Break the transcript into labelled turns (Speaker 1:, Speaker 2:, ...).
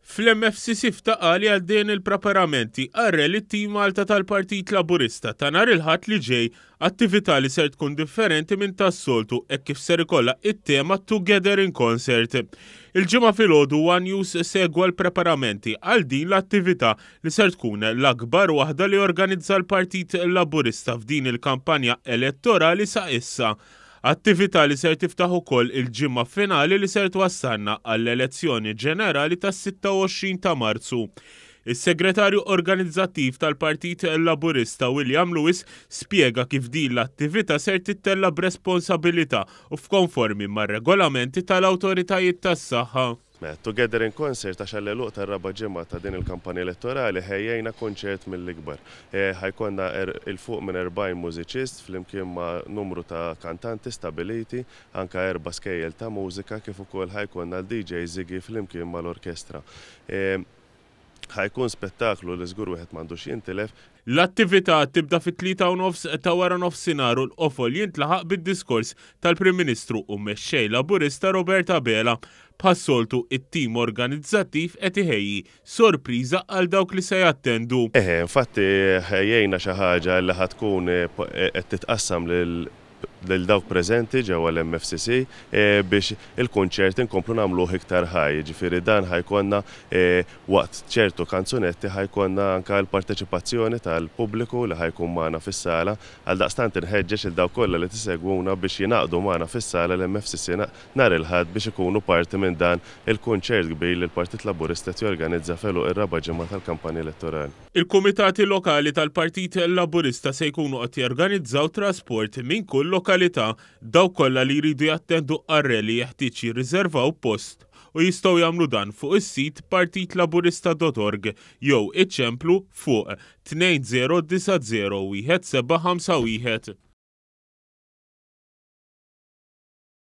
Speaker 1: Fl-MFCC f'Ta' Qali għaddejjin il-preparamenti għar-Rally Team Malta tal-Partit Laburista ta' nhar il-Ħadd li ġej, attività li ser tkun differenti minn tas-soltu hekk kif ser ikollha it-tema Together in Concert. Il-Ġimgħa filgħodu one News segwa l-preparamenti għal din l-attività li ser tkun l-akbar waħda li organizza l-Partit Laburista f'din il-kampanja elettorali sa issa. Attività li ser tiftaħ ukoll il-ġimgħa finali li ser twassalna għall-elezzjoni ġenerali tas-26 ta' Marzu. Is-Segretarju Organizzattiv tal-Partit Laburista William Lewis spjega kif din l-attività ser tittella' b'responsabilità u f'konformi mar-regolamenti tal-awtoritajiet tas-saħħa.
Speaker 2: Mela, Together in Concert għax għall-għeluq tar-raba' ġimgħa ta' din il-kampanja elettorali ħejjejna kunċert mill-ikbar. Ħa jkollna 'il fuq minn 40 mużiċist flimkien ma' numru ta' kantanti stabiliti, anke erba' skejjel ta' mużika kif ukoll ħa jkollna l-DJ Ziggy flimkien mal-orkestra. Ħa jkun spettaklu li żgur wieħed m'għandux jintilef.
Speaker 1: L-attività tibda fit-tlieta u nofs ta' waranofsinhar u l-qofol jintlaħaq bid-diskors tal-Prim Ministru u Mexxej Laburista Robert Abela. Bħas-soltu, it-tim organizzattiv qed iħejji sorpriża għal dawk li se jattendu.
Speaker 2: Eħe, infatti ħejjejna xi ħaġa li ħa tkun qed titqassam lil lil dawk preżenti ġewwa l-MFCC biex il-kunċert inkomplu nagħmluh iktar ħaj. Jiġifieri dan ħa jkollna waqt ċertu kanzunetti ħa jkollna anke l-parteċipazzjoni tal-pubbliku li ħa jkun magħna fis-sala. Għaldaqstant inħeġġeġ lil dawk kollha li tisegwuna biex jingħaqdu magħna fis-sala l-MFCC nhar il-Ħadd biex ikunu parti minn dan il-kunċert kbir li l-Partit Laburista qed jorganizza f'għeluq ir-raba' ġimgħa tal-kampanja elettorali.
Speaker 1: Il-Kumitati Lokali tal-Partit Laburista se jkunu qed jorganizzaw trasport minn kull lokalità. Dawk kollha li jridu jattendu għar-rally jeħtieġ jirriservaw post u jistgħu jagħmlu dan fuq is-sit partitlaburista.org jew iċemplu fuq 2090 1751.